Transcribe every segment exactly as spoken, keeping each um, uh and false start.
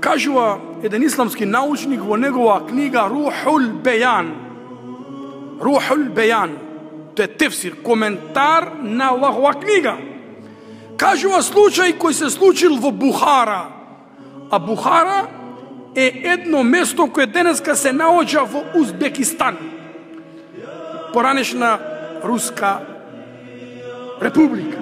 Кажува еден исламски научник во негова книга Рухул Бејан. Рухул Бејан. Тоа е тефсир, коментар на Аллахова книга. Кажува случај кој се случил во Бухара. А Бухара е едно место кое денеска се наоѓа во Узбекистан. Поранешна Руска република.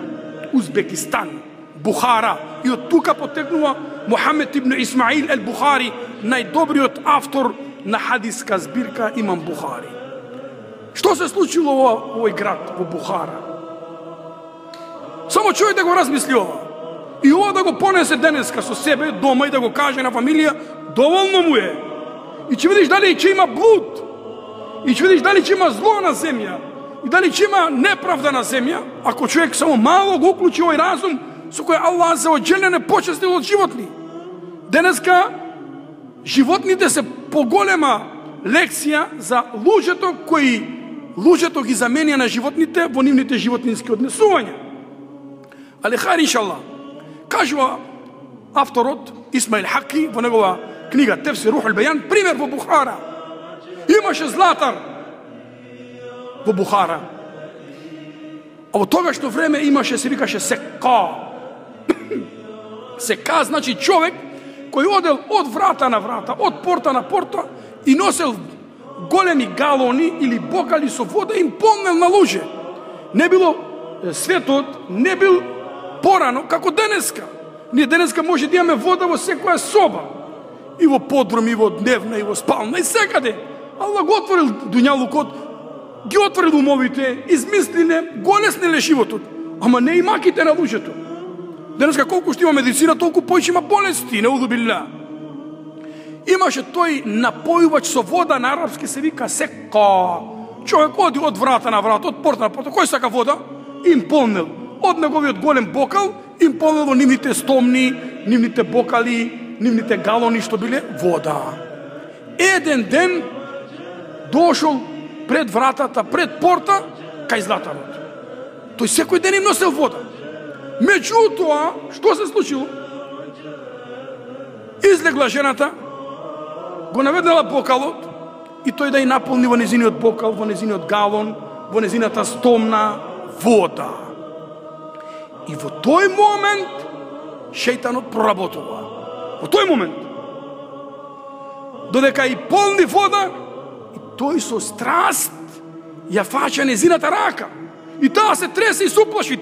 Узбекистан. Бухара. И од тука потекнува Мухамед ибн Исмаил ел Бухари, најдобриот автор на хадиска збирка Имам Бухари. Што се случило во овој град, во Бухара? Само човек да го размисли ова. И ова да го понесе денеска со себе дома и да го каже на фамилија, доволно му е. И ќе видиш дали ќе има блуд. И ќе видиш дали ќе има зло на земја. И дали ќе има неправда на земја, ако човек само мало го уклучи овој разум со кој Аллах за оџелен е почестил од животни. Денеска животните се поголема лекција за луѓето кои луѓето ги заменија на животните во нивните животински однесувања. Али хајр иншаллах. Кажува авторот Исмаил Хаки во негова книга Тефсир Рухул Бејан, пример во Бухара. Имаше златар во Бухара. А во тогашно време имаше, се викаше сека. Сека значи човек кој одел од врата на врата, од порта на порта и носел големи галони или бокали со вода и им полнел на луѓе. Не било светот, не бил порано како денеска. Ние денеска може да имаме вода во секоја соба. И во подрум, и во дневна, и во спална, и секаде. Аллах го отворил дуњалукот, ги отворил умовите, измислиле, го олесниле животот. Ама не и маките на луѓето. Денеска колку што има медицина, толку поише има болести, неуду билла. Имаше тој напојувач со вода, на арапски се вика сека. Човек оди од врата на врата, од порта на порта, кој сака вода? Им полнел. Од неговиот голем бокал, им полнел во нивните стомни, нивните бокали, нивните галони што биле вода. Еден ден дошол пред вратата, пред порта, кај златарот. Тој секој ден им носел вода. Меѓутоа, што се случило? Излегла жената, го наведнала бокалот и тој да ја наполни во незиниот бокал, во незиниот галон, во незината стомна вода. И во тој момент шејтанот проработува. Во тој момент. Додека и полни вода, и тој со страст ја фаќа незината рака. И таа се тресе и се уплаши.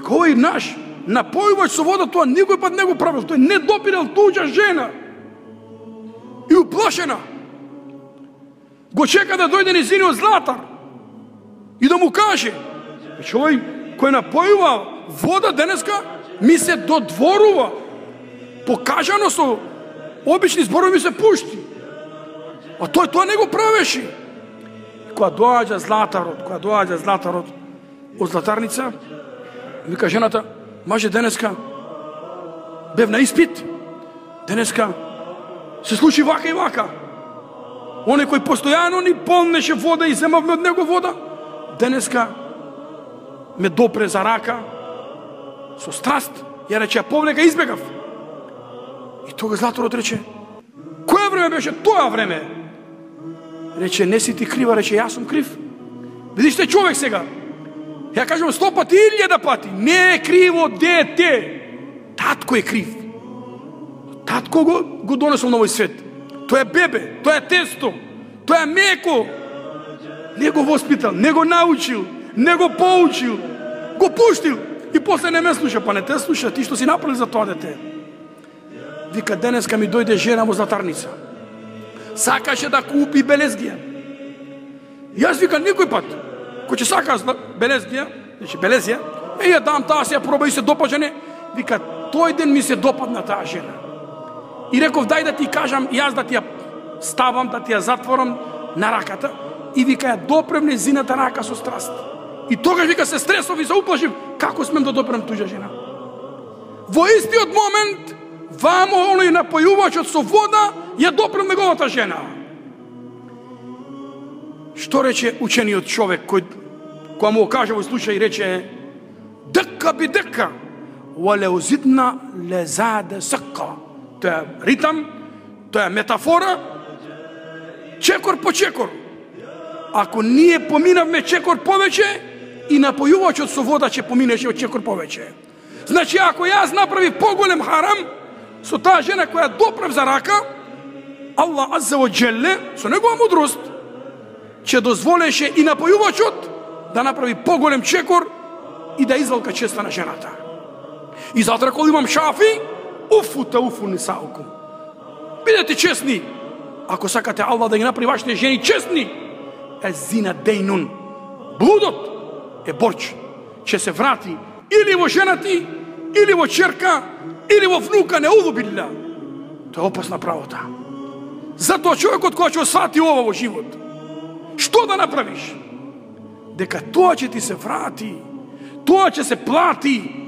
Кој наш напојувач со вода, тоа никој пат не го правил. Тој не допирал туѓа жена. И уплашена го чека да дојде незиниот златар и да му каже: човек кој напојува вода денеска ми се додворува. Покажано со обични зборови ми се пушти. А тој тоа не го правеше. И кога доаѓа златарот, кога доаѓа златарот од златарница, вика жената: маже, денеска бев на испит, денеска се случи вака и вака. Оне кој постојано ни полнеше вода и земавме од него вода, денеска ме допре за рака со страст, ја рече: повлека, избегав. И тога златарот рече: кое време беше тоа време? Рече: не си ти крива, рече: јас сум крив. Видиш те човек сега. Ја кажам сто пати, илјада пати, не е криво дете. Татко е крив. Татко го, го донесол на овој свет. Тоа е бебе, тоа е тесто, тоа е меко. Не го воспитал, не го научил, не го поучил, го пуштил. И после не ме слуша, па не те слуша, ти што си направил за тоа дете. Вика: денеска ми дојде жена во златарница. Сакаше да купи белезгија. Јас вика никој пат, кој ќе сака белезгија, значи белезија, е ја дам таа, се ја проба и се допаѓа, не. Вика: тој ден ми се допадна таа жена. И реков: дај да ти кажам, јас да ти ја ставам, да ти ја затворам на раката. И вика: ја допрем незината рака со страст. И тогаш вика се стресов и се уплашив, како смем да допрем туѓа жена. Во истиот момент, вамо оној напојувачот со вода ја допрем неговата жена. Што рече учениот човек кој кога му каже во случај, рече: дека би дека وَلَوْ زِدْنَا لَزَادَ سَقَّا. Тоа е ритам, тоа е метафора, чекор по чекор. Ако ние поминавме чекор повеќе, и напојувачот со вода ќе поминеше од чекор повеќе. Значи, ако јас направи поголем харам со таа жена која допрев за рака, Аллах Азза ва Джелле, со негова мудрост, ќе дозволеше и напојувачот да направи поголем чекор и да извалка честа на жената. И затоа кога имам Шафи, уфу та уфу нисаукум. Бидете честни. Ако сакате Аллах да ги направи вашите жени честни, е зина дейнун. Блудот е борч. Ќе се врати или во женати, или во черка, или во внука, не улубилля. Тоа е опасна правота. Затоа човекот кој ќе освати ова во живот, што да направиш? Дека тоа ќе ти се врати, тоа ќе се плати.